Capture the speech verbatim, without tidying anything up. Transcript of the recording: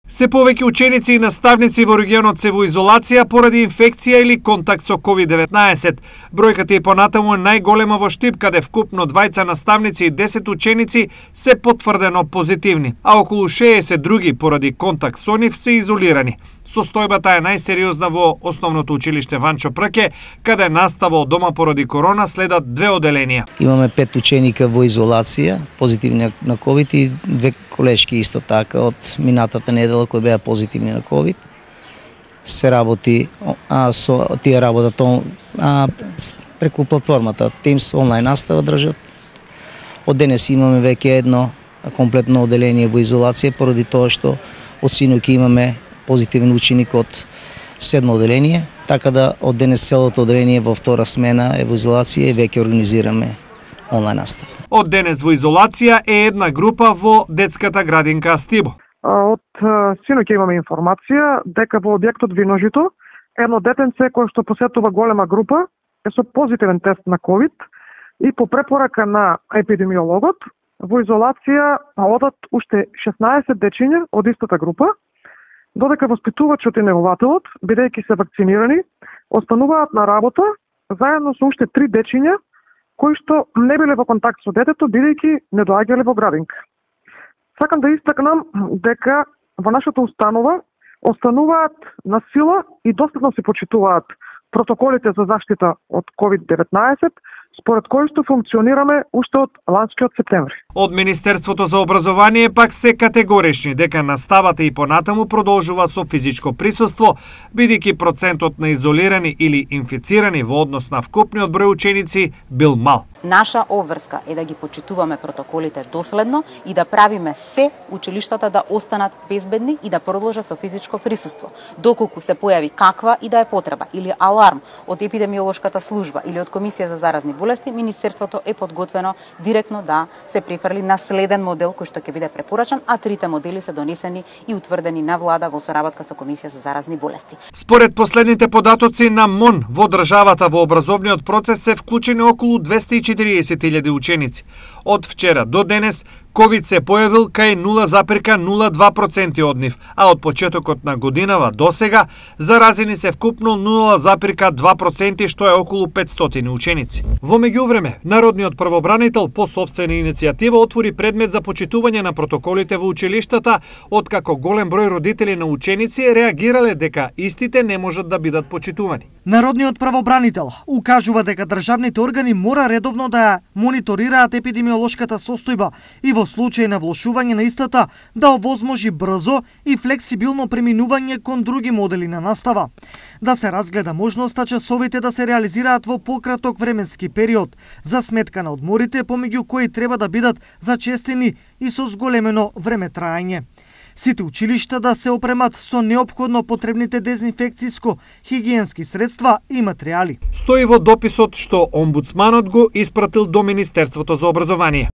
Се повеќе ученици и наставници во регионот се во изолација поради инфекција или контакт со ковид деветнаесет. Бројката и понатаму е најголема во Штип, каде вкупно двајца наставници и десет ученици се потврдено позитивни, а околу шеесет други поради контакт со нив се изолирани. Состојбата е најсериозна во основното училиште Ванчо Прке, каде настава од дома поради корона следат две оделенија. Имаме пет ученика во изолација, позитивни на ковид и две колешки исто така од минатата недела кои беа позитивни на ковид. Се работи, а со тие работат а, преку платформата Teams онлайн настава држат. Од денес имаме веќе едно комплетно оделение во изолација поради тоа што од синоќ имаме позитивен ученик од седмо оделение, така да од денес целото оделение во втора смена е во изолација и веќе организираме онлайн настава. Од денес во изолација е една група во детската градинка Астибо. Од синоќ имаме информација дека во објектот Виножито едно детенце кое што посетува голема група е со позитивен тест на ковид и по препорака на епидемиологот во изолација одат уште шеснаесет дечиња од истата група, додека воспитувачот и негователот, бидејќи се вакцинирани, остануваат на работа заедно со уште три дечиња кои што не биле во контакт со детето, бидејќи не доаѓале во градинка. Сакам да истакнам дека во нашата установа остануваат на сила и доследно се почитуваат протоколите за заштита од ковид деветнаесет, според кои што функционираме уште од ланскиот септември. Од Министерството за образование пак се категорични дека наставата и понатаму продолжува со физичко присуство, бидејќи процентот на изолирани или инфицирани во однос на вкупниот број ученици бил мал. Наша обврска е да ги почитуваме протоколите доследно и да правиме се училиштата да останат безбедни и да продолжат со физичко присуство. Доколку се појави каква и да е потреба или аларм од епидемиолошката служба или од Комисија за заразни болести, Министерството е подготвено директно да се префрли на следен модел кој што ќе биде препорачан, а трите модели се донесени и утврдени на влада во соработка со Комисија за заразни болести. Според последните податоци на МОН, во државата во образовниот процес се вклучени околу двесте и четириесет илјади ученици. Од вчера до денес ковид се појавил кај нула запирка нула два проценти од нив, а од почетокот на годинава до сега заразени се вкупно нула запирка два проценти, што е околу петстотини ученици. Во меѓувреме, Народниот правобранител по сопствена иницијатива отвори предмет за почитување на протоколите во училиштата, откако голем број родители на ученици реагирале дека истите не можат да бидат почитувани. Народниот правобранител укажува дека државните органи мора редовно да мониторираат епидемиолошката состојба и во случај на влошување на истата да овозможи брзо и флексибилно преминување кон други модели на настава. Да се разгледа можноста часовите да се реализираат во пократок временски период за сметка на одморите помеѓу кои треба да бидат зачестени и со зголемено време траење. Сите училишта да се опремат со неопходно потребните дезинфекциско хигиенски средства и материјали. Стои во дописот што омбудсманот го испратил до Министерството за образование.